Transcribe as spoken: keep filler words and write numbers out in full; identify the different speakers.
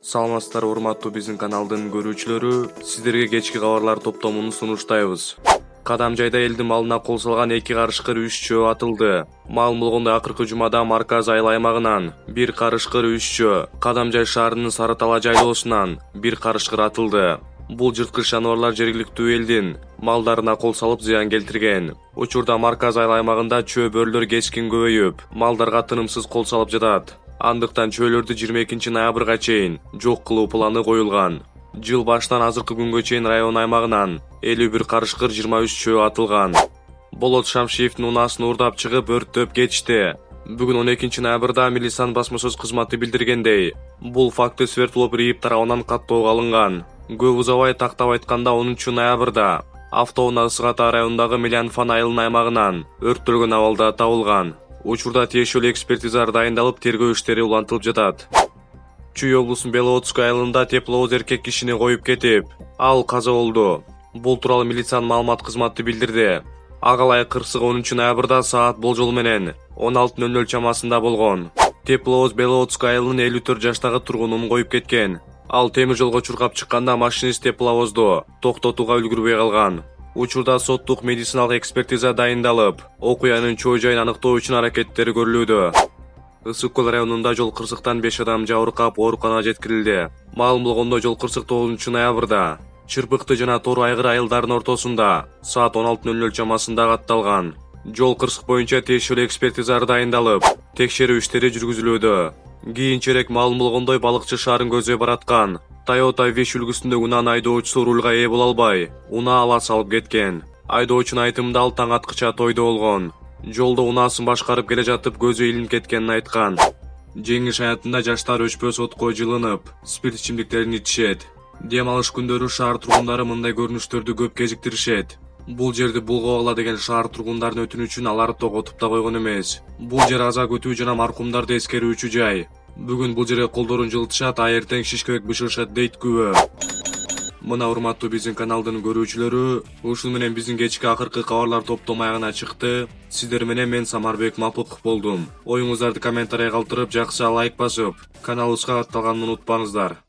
Speaker 1: Саламатсыздар, урматтуу биздин каналдын көрүүчүлөрү. Сиздерге кечки кабарлар топтомун сунуштайбыз. Кадамжайда элдин малына кол салган эки карышкыр үч жөө атылды. Маалым болгондой, акыркы жумада Марказ айыл аймагынан бир карышкыр үч жөө, Кадамжай шаарынын Сары Тала жайлоосунан бир карышкыр атылды. Бул жырткыч жаныбарлар жергиликтүү элдин малдарына кол салып зыян келтирген. Учурда Марказ айыл аймагында чөө бөрүлөр кескин көбөйүп, малдарга тынымсыз кол салып жатат. Андыктан чөөлөрдү жыйырма экинчи ноябрга чейин жок кылуу планы коюлган. Жыл башынан азыркы күнгө чейин район аймагынан элүү бир карышкыр, жыйырма үч чөө атылган. Болот Шамшиевдин унаасын уурдап чыгып өрттөп кетишти. Бүгүн он экинчи ноябрда милициянын басма сөз кызматы билдиргендей, бул факты Свердлов РИИБ тарабынан каттоого алынган. Көп узабай, тактап айтканда онунчу ноябрда автоунаа Ысык Ата районундагы Мелианфан айылынын аймагынан өрттөлгөн абалда табылган. Учурда тиешелүү экспертизалар дайындалып, тергөө иштери улантылып жатат. Чүй облусунун Белоотскай айылында тепловоз эркек кишини коюп кетип, ал каза болду. Бул тууралуу милициянын маалымат кызматы билдирди. Агалай кырсык онунчу ноябрда саат болжол менен он алты ноль ноль чамасында болгон. Тепловоз Белоотскай айылынын элүү төрт жаштагы тургунун коюп кеткен. Ал темир жолго чуркап чыкканда машинист тепловозду токтотууга үлгүрбөй калган. Учурда соттук медициналык экспертиза дайындалып, окуянын чоо жайын аныктоо үчүн аракеттер көрүлүүдө. Ысык Көл районунда жол кырсыктан беш адам жабыркап ооруканага жеткирилди. Маалым болгондой, жол кырсык тогузунчу ноябрда Чырпыкты жана Тор Айгыр айылдарынын ортосунда саат он алты ноль ноль чамасында катталган. Жол кырсык боюнча тиешелүү экспертизалар дайындалып, текшерүү иштери жүргүзүлүүдө. Кийинчерээк маалым болгондой, балыкчы шаарын көздөй бараткан Toyota Wish үлгүсүндөгү унаанын айдоочусу рулга ээ боло албай, унаа ала салып кеткен. Айдоочунун айтымында, ал таң аткыча тойдо болгон. Жолдо унаасын башкарып келе жатып көзү илинип кеткенин айткан. Жеңиш аятында жаштар өчпөс отко жылынып, спирт ичимдиктерин ичишет. Дем алыш күндөрү шаар тургундары мындай көрүнүштөрдү көп кезиктиришет. Бул жерди булгап ала деген шаар тургундарынын өтүнүчүн алар тоготуп да койгон эмес. Бул жер аза күтүү жана маркумдарды эскерүүчү жай. Бүгүн бул жерге колдорун жылытышат, а эртең шишкебек бышырышат дейт күбө. Мына урматтуу биздин каналдын көрүүчүлөрү, ушун менен биздин кечки акыркы кабарлар топтому аягына чыкты. Сиздер менен мен Самарбек Мапыков болдум. Оюңуздарды комментарийге калтырып, жакшы лайк басып, каналыбызга катталганын унутпаңыздар.